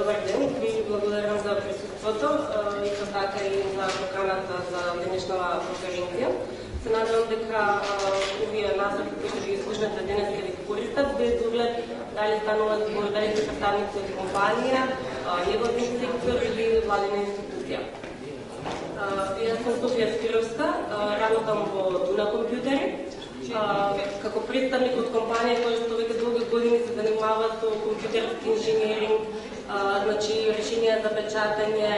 добар ден, ви благодарам за присуството и така и за поканата за денешната конференција. Се надевам дека овие насоки кои ги слушнете денес ќе ви користат, без оглед дали стануваат збор, дали се представници од компанија, невладин сектор или владина институција. Јас сум Софија Спировска, работам во Дуна компјутери. Како представник од компанија која што веќе долги години се занимава со компјутерски инженеринг, значи решенија за печатање,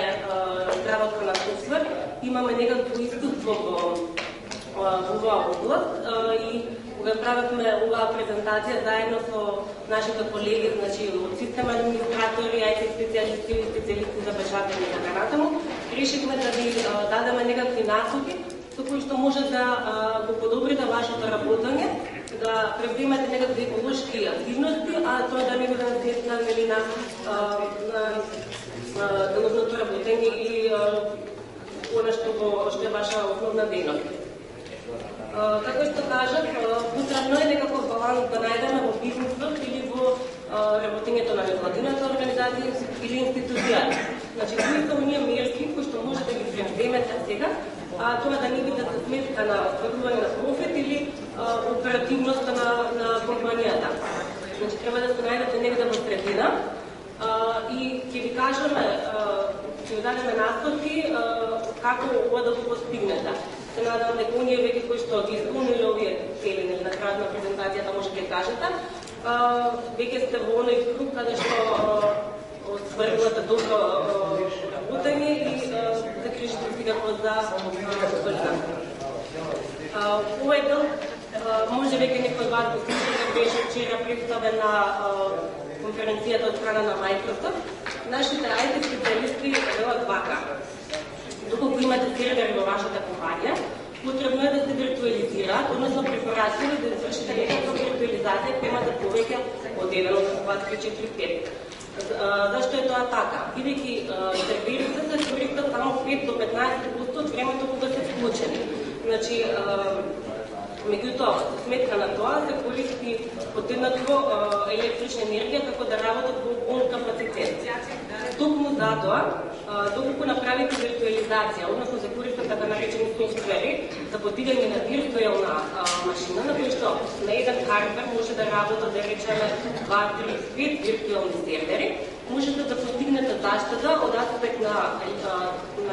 изработка на софтвер, имаме некакво искуство во оваа област и кога правевме оваа презентација заедно со нашите колеги, значи од систем администратори, IT специјалисти и специјалисти за печатање и така натаму, решивме да ви дадеме некакви насоки со кои што може да го подобрите вашето работење, да превземете некакви еколошки активности, а тоа да не биде наследствена на деловното работење или она што е ваша основна дејност. Како што кажав, потребно е некаков баланс да најдеме во бизнисот или во работењето на невладината организација или институцијата. Значи, кои се оние мерки кои што може да ги превземете сега, тоа да не биде за сметка на остварување на профит или оперативноста на компанијата. Значи, треба да се најдете негде во средина и ќе ви кажеме, ќе ви дадеме насоки како ова да го постигнете. Се надам дека оние веќе кои што ги исполниле овие цели на крајот на презентацијата може ќе кажете, веќе сте во оној круг каде што свршувате добро работење и закришите сигурно за солида. Овој дел може веќе некој од вас го слушате, беше вчера представена конференцијата од страна на Microsoft. Нашите IT специјалисти велат вака: доколку имате сервер во вашата компанија, потребно е да се виртуализираат, односно препорачливо да извршите некаква виртуализација која имате повеќе од 1, од 2, 3, 4, 5. Зашто е тоа така? Бидејќи серверите се користат само 5 до 15% од времето кога се вклучени. Значи, меѓутоа, сметка на тоа се користи подеднакво електрична енергија како да работат во полн капацитет. Токму затоа, доколку направите виртуализација, односно се користат така наречени софтвери за подигање на виртуелна машина, на која што на еден хардвер може да работат, да речеме, 2, 3, 5 виртуелни сервери, можете да постигнете заштеда од аспект на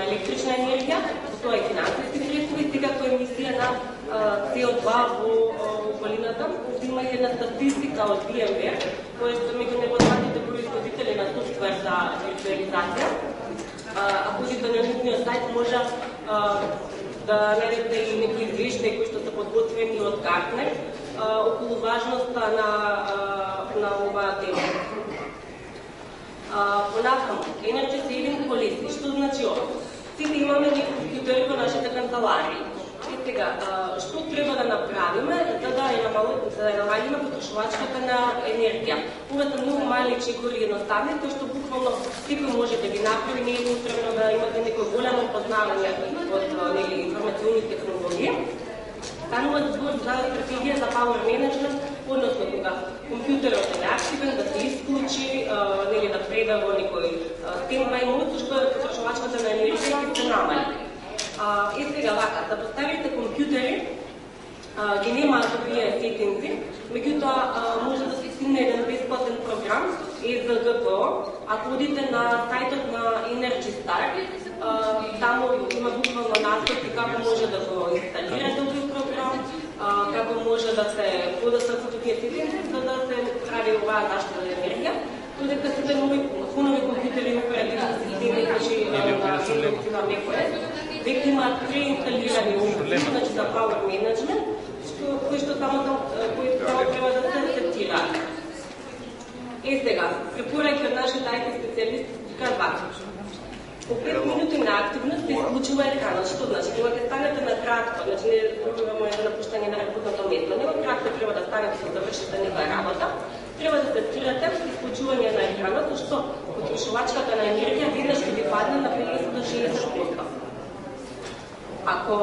електрична енергија, тоа е финансиски средства и секако емисија на CO2 во околината. Има и една статистика од VMware, која што меѓу непознатите производители на софтвер за виртуализација. Ако одите на нивниот сајт, може да најдете и некои извештаи кои што се подготвени од Гартнер околу важноста на оваа тема. Понатаму, Energy Saving Policy, што значи ова? Сите имаме некои компјутери во нашите канцеларии. И сега, што треба да направиме за да намалиме потрошувачката на енергија? Ова се многу мали чекори едноставни, кои што буквално секој може да ги направи, не е потребно да имате некој голямо познавање од информационни технологии. Станува збор за стратегија за power management, односно кога компјутерот е неактивен, да се исклучи, да преда во некој стендбај мод, што потрошувачката на енергија ќе се намали. И сега вака, да поставите компјутери, ги немаат овие сетинзи, меѓутоа може да се стигне еден бесплатен програм, EZGPO. Ако одите на сајтот на Energy Star, таму има буквално насоки како може да го инсталирате овој програм, како може да се подесат со овие сетинзи, за да се прави оваа заштеда на енергија. Додека сите нови компјутери и оперативни системи, значи на macOS, веќе имаат преинсталирани опции, значи за power management, кои што само треба да се сетираат. Сега, препораки од нашите IT специјалисти кажуваат: по 5 минути на активност се исклучува екранот. Што значи? Кога ќе станете на кратко, значи не зборуваме за напуштање на работното место, него кратко треба да станете да завршите некоја работа, треба да сетирате исклучување на екранот, што потрошувачката на енергија веднаш ќе ви падне на 50 до 60%. Ако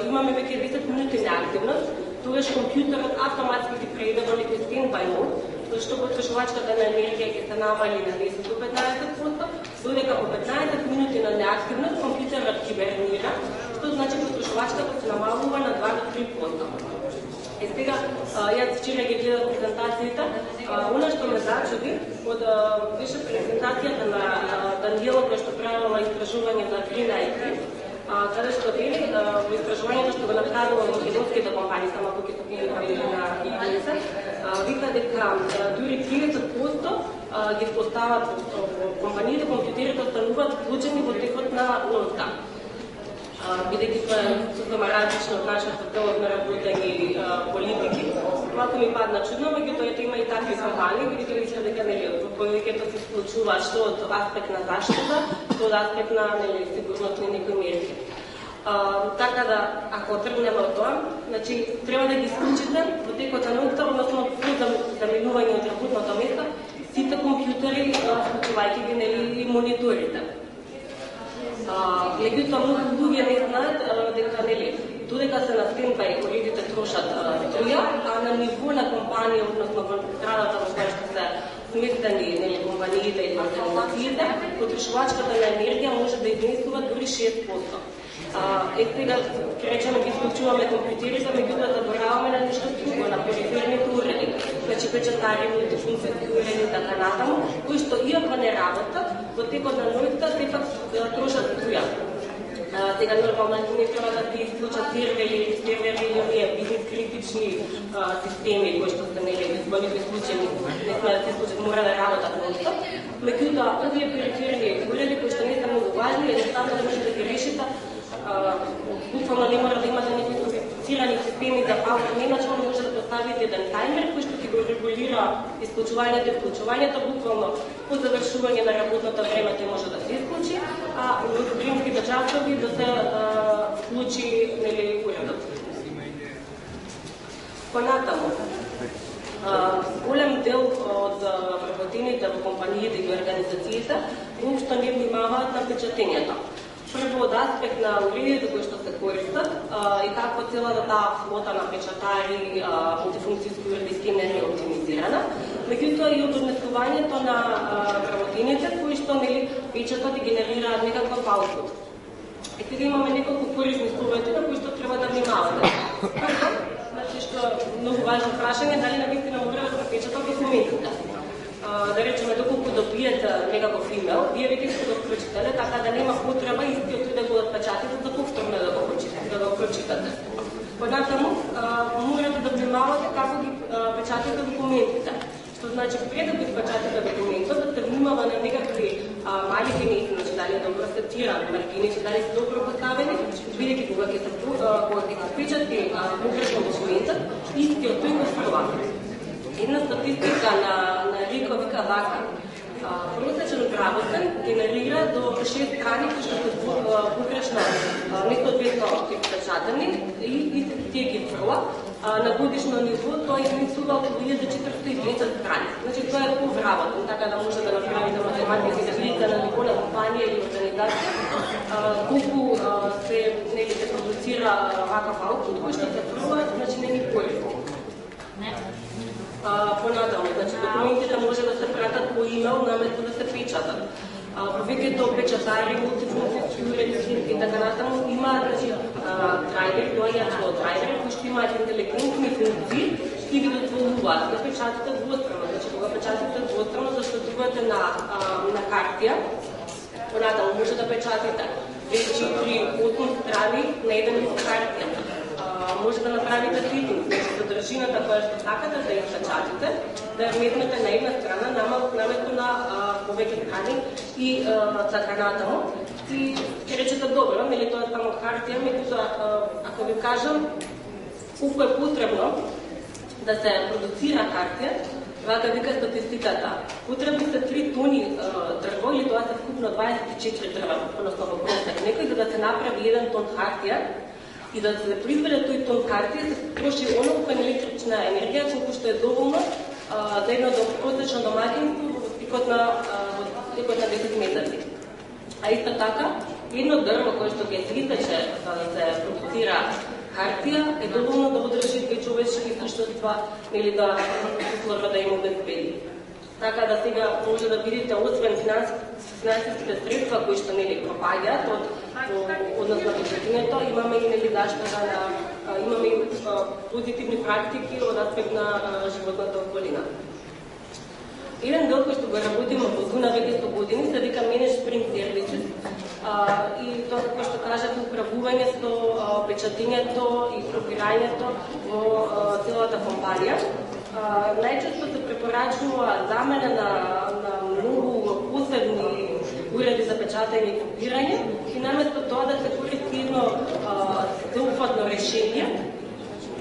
имаме веќе 10 минути на активност, тогаш компјутерот автоматски ги преиде во некој стендбај мод што потрошувачката на енергија ќе се намали на 10 до 15%, додека по 15 минути на неактивност компјутерот хибернира, што значи потрошувачката се намалува на 2 до 3%. Сега, јас вчера ги гледав презентацијата, она што ме зачуди, беше презентацијата на Даниела која што правила истражување за Green IT, каде што вели во истражувањето што го направила македонските компании, само тука што ги направили на ИНС, вика дека дури 30% ги постават компаниите, компјутерите остануваат вклучени во текот на ноќта. Бидејќи тоа е супер различно од нашата целот на работење и политики, малку ми падна чудно, меѓутоа има и такви компании, бидејќи дека повеќето се склучуваат што од аспект на заштита, што од аспект на сигурност на некои мерки. Така да, ако тргнеме од тоа, значи треба да ги исклучите во текот на ноќта, односно за заминување од работното место, сите компјутери, вклучувајќи ги и мониторите. Меѓутоа, многу луѓе не знаат дека додека се на стендбај уредите трошат струја, а на ниво на компанија, односно во зградата во која што се сместени компаниите и организациите, потрошувачката на енергија може да изнесува дури 6%. Сега, ќе речеме, ги исклучуваме компјутерите, меѓутоа забораваме на нешто друго, на периферните уреди, значи печатари, мултифункционални уреди, така натаму, кои што иако не работат, во текот на ноќта сепак трошат струја. Сега нормално не треба да се исклучат сервери или оние бизнес критични системи кои што се во некои случаи не смеат да се исклучат, мора да работат ноќта. Меѓутоа, овие периферни уреди кои што не се многу важни, едноставно да може да ги решите, буквално не мора да имате некои софистицирани системи за автоменеджмент, може да поставите еден таймер кој што ќе го регулира исклучувањето и вклучувањето, буквално по завршување на работното време тој може да се исклучи, а во сутринските часови да се вклучи уредот. Понатаму, голем дел од вработените во компаниите и организациите воопшто не внимаваат на печатењето. Прво од аспект на уредите кои што се користат и како целата таа флота на печатари, мултифункцијски уреди и скенери е оптимизирана, меѓутоа и од однесувањето на вработените кои што печатат и генерираат некаков аутпут. И сега имаме неколку корисни совети на кои што треба да внимавате. Прво, значи што многу важно прашање, дали навистина мора да се печатат документите. Да речеме, доколку добиете некаков имейл, вие веќе сте го прочитале, така да нема потреба истиот тој да го отпечатите за повторно да го прочитате. Понатаму, морате да внимавате како ги печатате документите. Што значи, пред да ги печатате документот, да се внимава на некакви мали генети, значи дали е добро сетиран, маркиници, дали се добро поставени, бидејќи кога ќе се печати погрешно документот, истиот тој го струва. Една статистика на Рико вика вака. Просечен грамотен генерира до 6 страни кои што се погрешно место 200 печатани и тие ги фрла. На годишно ниво тоа изнесува околу 1410 страни. Значи тоа е повработен, така да може да направите математика и да видите на ниво на компанија или организација колку се продуцира вакав аутпут кој што се фрла, значи не ни користи. Понатаму, значи документите може да се пратат по имейл наместо да се печатат. Повеќето печатари, мултифункцијски уреди и така натаму имаат драйвери, доаѓаат со драйвери кои што имаат интелигентни функции и ги дозволуваат да печатате двостранно. Значи кога печатате двостранно, заштедувате на картија, понатаму може да печатате 2-4-8 страни на еден лист картија. Може да направите фитинг, значи содржината која што сакате да ја печатите, да ја вметнете на една страна, наместо на повеќе страни и така натаму. И ќе речете добро, нели тоа е само хартија, меѓутоа ако ви кажам колку е потребно да се продуцира хартија, вака вика статистиката. Потребни се 3 тони дрво или тоа се вкупно 24 дрва, односно во просек некој за да се направи 1 тон хартија. И да се произведе тој тон хартија се троши онолку електрична енергија колку што е доволно за едно просечно домаќинство во текот на 10 месеци. А исто така, едно дрво кое што ќе се изтече за да се продуцира хартија е доволно да одржи две човечки суштества или да условно да им обезбеди. Така да сега може да видите, освен финансиските средства кои што нели пропаѓаат од однос на бюджетинето, имаме и нели заштита на имаме и позитивни практики од аспект на животната околина. Еден дел кој што го работиме во Зуна веќе 100 години се вика Management Services и тоа како што кажав управувањето, печатењето и групирањето во целата компанија. Најчесто се препорачува замена на многу посебни уреди за печатање и групирање и наместо тоа да се користи едно всеопфатно решение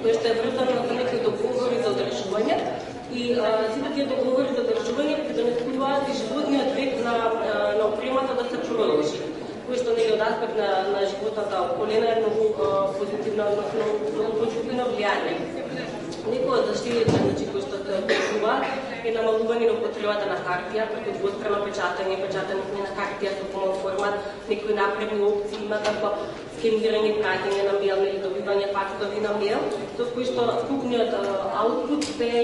кое што е врзано со некои договори за одржување и сите тие договори за одржување предонесуваат и животниот век на опремата да се продолжи, кој што нели од аспект на животната околина е многу позитивно влијание. Некои од заштитите кои што се одржуваат е намалување на употребата на хартија, преку двостранно печатање, печатање на хартија со помал формат, некои напредни опции има како скенирање, праќање на мејл или добивање факсови на мејл, со кои што вкупниот аутпут кој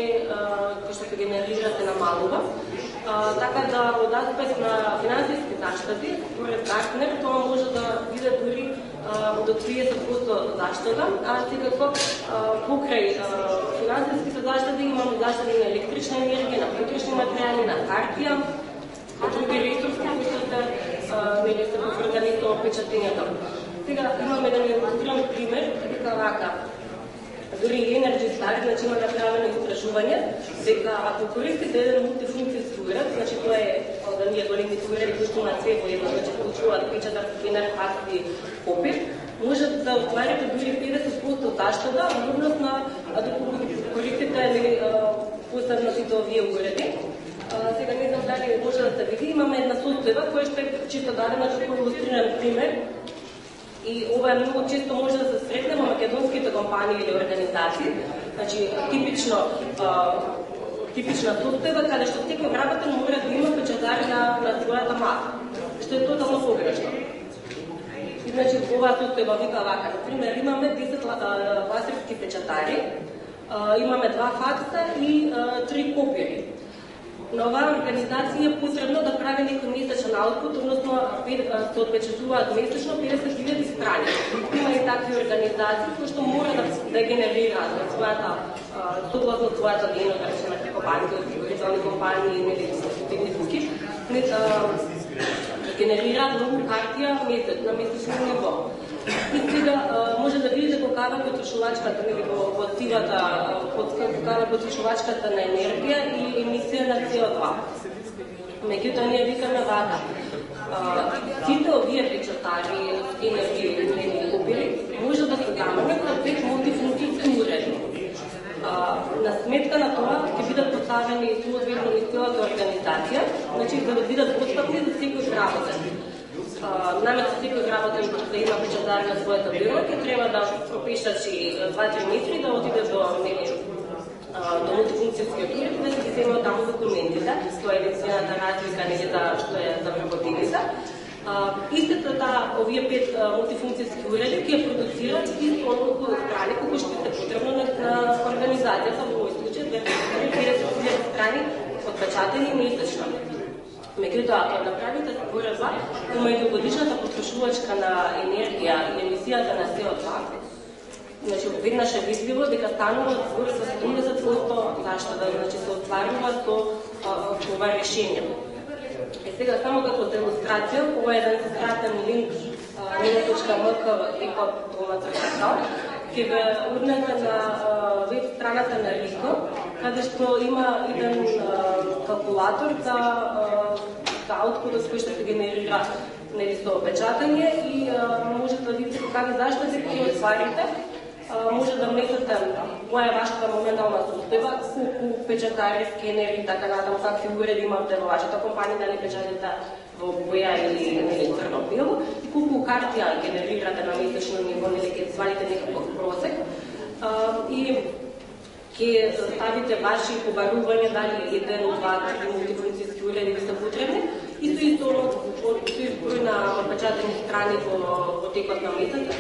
што се генерира се намалува. Така да од аспект на финансиски заштити, според Гартнер, тоа може да биде дури до 30% заштита, а секако покрај финансиските заштити имаме заштити на електрична енергија, на потребни материјали, на хартија, други ресурси кои што се поврзани со печатењето. Сега имаме еден илустриран пример, дека вака. Дури Energy Star, значи има направено истражување, дека ако користите еден мултифункцијски уред, значи тоа е од оние големите уреди кои што имаат све во едно, значи получуваат печатар, скенер, факс и копир, може да остварите дури 50% заштита, односно доколку користите посебно сите овие уреди. Сега не знам дали може да се види, имаме една состојба која што е чисто дадена како илустриран пример. И ова е многу често може да се сретне во македонските компании или организации. Значи, типична состојба каде што секој вработен мора да има печатар на својата маса, што е тотално погрешно. И значи, оваа состојба вика вака. Например, имаме 10 лазерски печатари, имаме 2 факса и 3 копири. На оваа организација е потребно да прави некој месечен аутпут, односно се отпечатуваат месечно 50.000 страни. Има и такви организации кои што мора да генерираат својата согласно својата дейност, да речеме како банки, осигурителни компании или технически, генерираат многу хартија на месечно ниво. И сега може да видите колкава е потрошувачката во сивата, колкава е потрошувачката на енергија и емисија на CO2. Меѓутоа ние викаме вака. Сите овие печатари, скенери и копири може да се заменат со 5 мултифункцијски уреди. На сметка на тоа ќе бидат поставени соодветно низ целата организација, значи за да бидат достапни за секој гработен. Наместо секој гработен да има печатар на својата бюро, ќе треба да пропишачи 2-3 метри да отиде до мултифункцијскиот уред да се земат таму документите. Тоа е единствената разлика што е за вработените. Истата овие 5 мултифункцијски уреди ќе продуцираат исто толку страни колку што е потребно на организацијата во овој случај 50.000 страни отпечатани месечно. Меѓутоа, ако направите споредба помеѓу годишната потрошувачка на енергија и емисијата на CO2, значи веднаш е видливо дека станува збор за 70% заштита, значи се остварува со ова решение. Сега само како за илустрација, ова е еден скратен линк nilo.mk/domac.com ќе ве урнете на веб страната на РИКО, каде што има еден калкулатор за аутпутот кој што се генерира со печатање и може да видите какви заштити ќе отварите. Може да внесете која е вашата моментална состојба, колку печатари, скенери и така натаму, какви уреди имате во вашата компанија, дали печатите во боја или црно-бело, и колку хартија генерирате на месечно ниво, или ќе свалите некаков просек. И ќе ставите ваши побарувања, дали 1, 2, 3 мултифункцијски уреди ви се потребни, и со изброј на печатени страни во текот на месецот,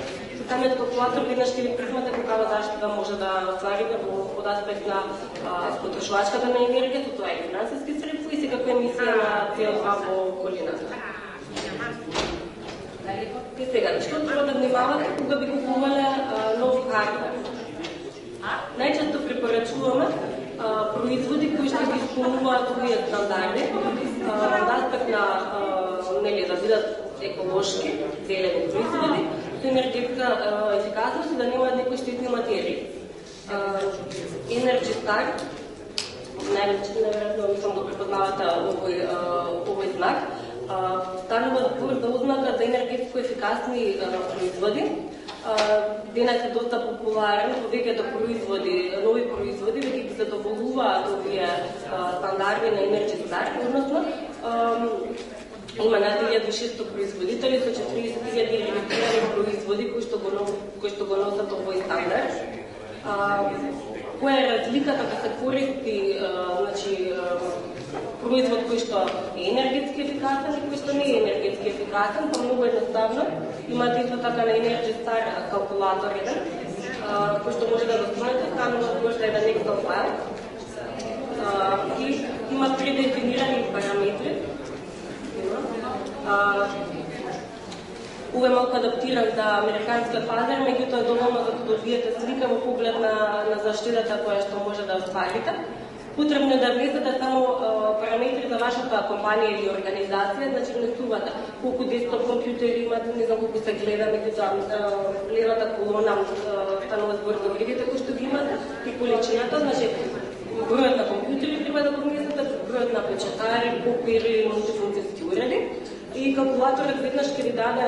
самиот калкулатор веднаш ќе ви прифмате каква заштита може да остварите од аспект на потрошувачката на енергија, тоа е финансиски средства и секако емисија на CO2 во околината. И сега, што треба да внимавате кога би купувале нов хардвер? Најчесто препорачуваме производи кои што ги исполнуваат овие стандарди, од аспект на да бидат еколошки, зелени производи, со енергетска ефикасност и да немаат некои штетни материи. Energy Star, најверојатно мислам да препознавате овој знак, станува збор за ознака за енергетско ефикасни производи. Денес е доста популарен, повеќето производи, нови производи, веќе ги задоволуваат овие стандарди на Energy Star, односно има над 1600 производители со 40.000 регистрирани производи кои што го носат овој стандард. Која е разликата да се користи производ кој што е енергетски ефикасен и кој што не е енергетски ефикасен? Па многу едноставно. Имате исто така на Energy Star калкулатор еден, кој што може да го снимате, станува за еден Excel файл и има предефинирани параметри. Ова е малку адаптиран за американскиот пазар, меѓутоа е доволно за да добиете слика во поглед на заштитата која што може да остварите. Потребно е да влезете само параметри за вашата компанија или организација, значи внесувате колку десктоп компјутери имате, не знам колку се гледа, меѓутоа левата колона станува збор за вредите кои што ги имате и количината, значи бројот на компјутери треба да го внесете, бројот на печатари, копири, мултифункцијски уреди. И калкулаторот веднаш ќе ви даде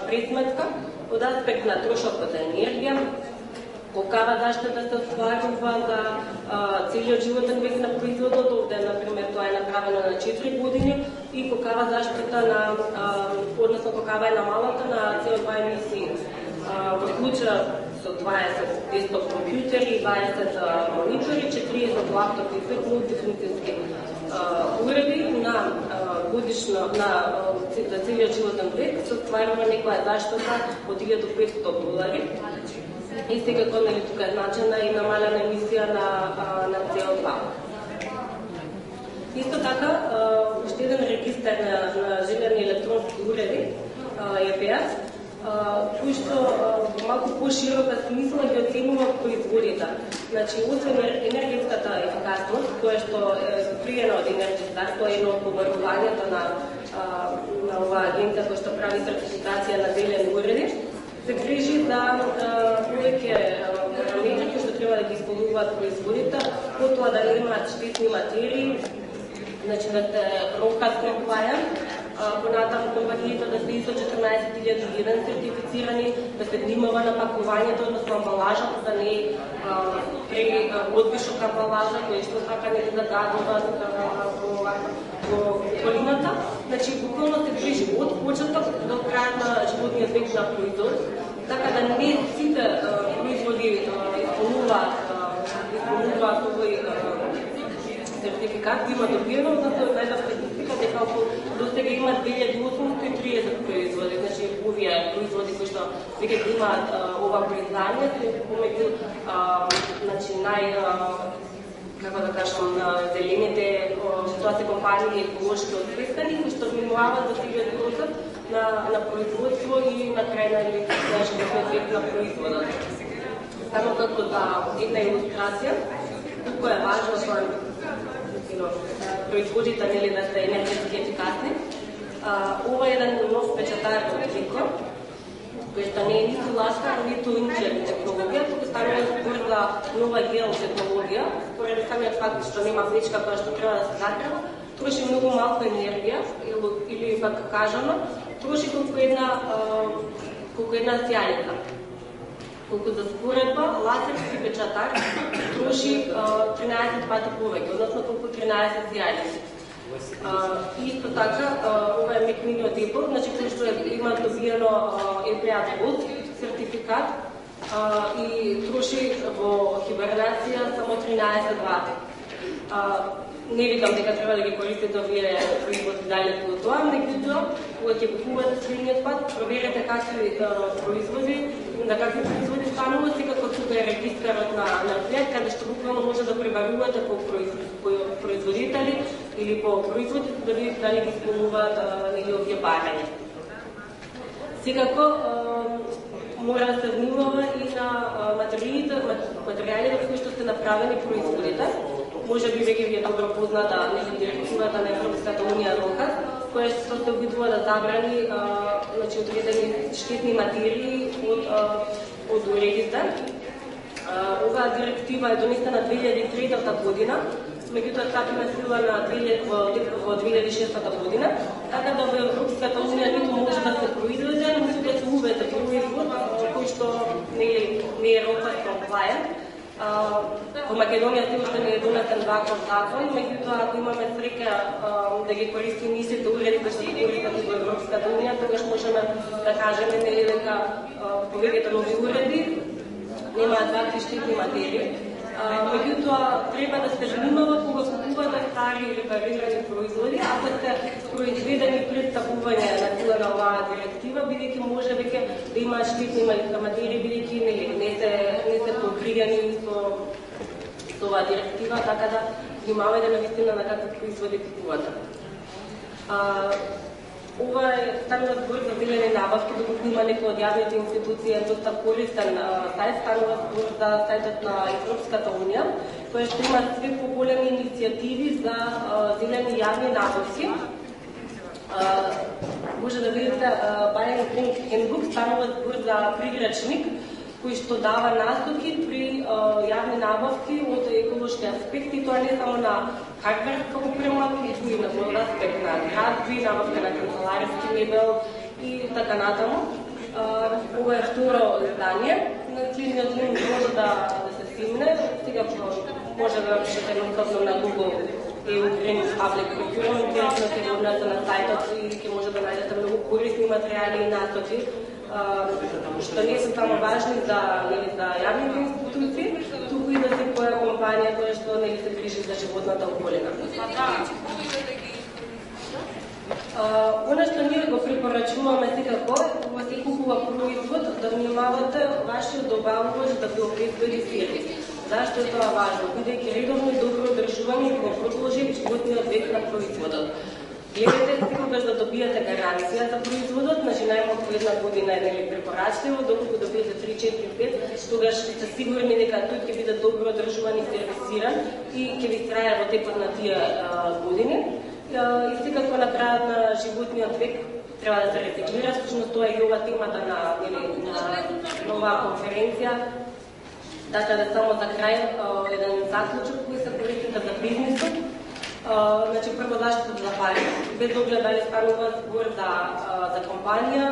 пресметка од аспект на трошокот за енергија, колкава заштита се остварува за целиот животен век на производот, овде, например, тоа е направено на 4 години, и колкава заштита на, односно колкава е намалата на CO2 емисии. Во случаја со 20 десктоп компјутери, 20 монитори, 40 лаптопи и 5 мултифункцијски уреди на годишно за целиот животен век се остварува некоја заштита од $1,500. И секако тука е значена и намалена емисија на CO2. Исто така, уште еден регистар на желени електронски уреди, EPS, кој што малку поширока смисла ги оценува производите. Значи, освен енергетската ефикасност, која што е пријена од Energy Star, тоа е едно од побарувањето на оваа агенција која што прави сертификација на зелени уреди, се грижи за повеќе параметри кои што треба да ги исполнуваат производите, потоа да немаат штетни материи, значи да се рокат compliant, понатаму компаниите да се ISO 14001 сертифицирани, да се внимава на пакувањето, односно амбалажата, да не е одвишок амбалажа, кој што така не загадува во околината. Значи, буквално се грижи од почеток до крајот на животниот век на производ, така да не сите производи исполнуваат овој сертификат, има добиено, затоа најда статистика дека околу до сега има 2830 производи, значи овие производи кои што веќе имаат ова признање, се помеѓу како да кажам, зелените, тоа се компании еколошки освестени, кои што внимаваат за целиот процес на производство и на крај на животниот век на производот. Само како за една илустрација, колку е важно производите да се енергетски ефикасни. Ова е еден нов печатар од Ricoh, кој што не е ниту ласка, ниту инчет технологија, туку станува збор за нова гел технологија, поради самиот факт што нема влечка која што треба да се затрeba, троши многу малку енергија, или пак кажано, троши колку една сјалица. Колку за споредба, лазерски печатар троши 13 пати повеќе, односно колку 13 сјалици. Исто така, ова е Mac Mini од Apple, значи кој што има добиено EPA Gold сертификат и троши во хибернација само 13 вати. Не викам дека треба да ги користите овие производи дали по тоа, меѓутоа, кога ќе купувате следниот пат, проверете какви производи на какви производи станува, секако тука е регистарот на флет, каде што буквално може да пребарувате по производители или по производи, да видите дали ги исполнуваат или овие барања. Секако мора да се внимава и на материјалите кои што сте направени производите. Може би веќе ви е добро позната директивата на Европската унија РОКА, која што се обидува да забрани одредени штетни материи од уредите. Оваа директива е донесена 2003 година, меѓутоа стапи на сила во 2006 година, така да во Европската унија ниту може да се произведе, ниту да се уведе производ кој што не е РОКА compliant. Во Македонија се уште не е донесен ваков закон, меѓутоа ако имаме среќа да ги користиме истите уреди кои се користат во Европската унија, тогаш можеме да кажеме дека повеќето нови уреди немаат вакви штетни материи. Меѓутоа треба да се внимава кога купувате стари или репарирани производи, ако се произведени пред стапување на сила на оваа директива, бидејќи може веќе да имаат штетни материи, бидејќи не се покриени со оваа директива, така да внимавајте навистина на какви производи купувате. Ова е станува збор за зелени набавки, докато има некои од јавните институции е доста користен сајт, станува збор за сајтот на Европската унија, кој што има све поголеми иницијативи за зелени јавни набавки. Може да видите Buying Green Handbook, станува збор за прирачник кој што дава насоки при јавни набавки од еколошки аспекти, тоа не само на хардверска опрема, туку и на друг аспект на градби, набавка на канцеларски мебел и така натаму. Ова е второ издание. На следниот линк може да се симне. Сега може да напишете едноставно на Google EU Green Public Procurement, директно се врнете на сајтот и ќе може да најдете многу корисни материјали и насоки, што не се само важни за јавните институции, туку и за секоја компанија која што се грижи за животната околина. Она што ние го препорачуваме секако, кога се купува производ, да внимавате вашиот добавувач да ви обезбеди сервис. Зашто е тоа важно? Бидејќи редовно и добро одржување го продолжи животниот век на производот. Гледате секогаш да добијате гаранција за производот, значи најмалку една година е препорачливо, доколку добиете 3-4-5, тогаш сте сигурни дека тој ќе биде добро одржуван и сервисиран и ќе ви трае во текот на тие години. И секако на крајот на животниот век треба да се рециклира, всушност тоа е и ова темата на оваа конференција. Така да само за крај еден заклучок кој се користите за бизнисот. Значи, прво заштита за пари, без оглед дали станува збор за компанија,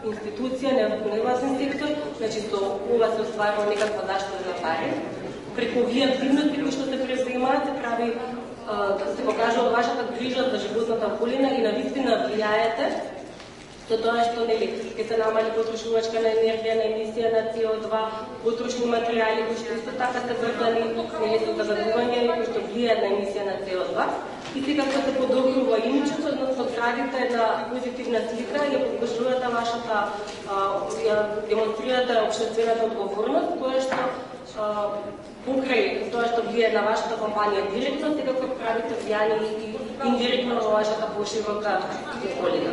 институција, невластен сектор, значи со ова се остварува некаква заштита за пари. Преку овие активности кои што се преземаат, се прави да се покажува вашата грижа за животната околина и навистина влијаете со тоа што ќе се намали потрошувачка на енергија, на емисија на CO2, потрошни материјали кои што исто така се врзани со загадување и кои што влијаат на емисија на CO2. И секако се подобрува имиджот, односно градите една позитивна слика и ја покажувате вашата, ја демонстрирате општествената одговорност, тоа што покрај тоа што влијае на вашата компанија директно, секако правите влијание и индиректно на вашата поширока околина.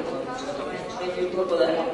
Благодарам.